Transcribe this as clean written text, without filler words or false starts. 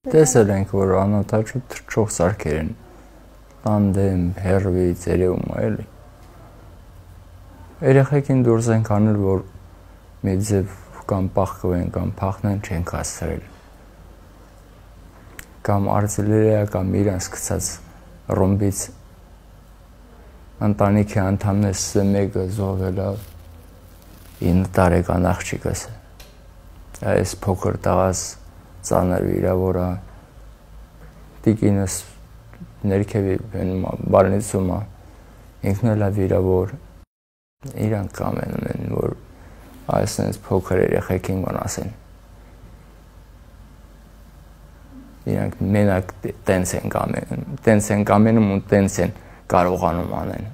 Տեսել ենք, որ անօթաչու թռչող սարքեր են, տանդեմ, հեռվից, երևում է էլի։ Երեխեքին դուրս ենք անել, որ մի ձև կամ պախկվեն, կամ փախնեն չենք հասցրել։ Կամ արտիլերիա կամ իրանց գցած ռումբից ընտանիքի անդամներս մեկը զոհվել է 9 տարեկան աղջիկս։ Այս փոքր տղաս ծանր վիրավոր է, տիկինս ներքևի բալնիցում է, ինքն էլ է վիրավոր։ Իրանք կամենում են, որ այսպես փոքր երեխեքին վնասեն։ Իրանք մենակ տենց են կամենում ու տենց են կարողանում անեն։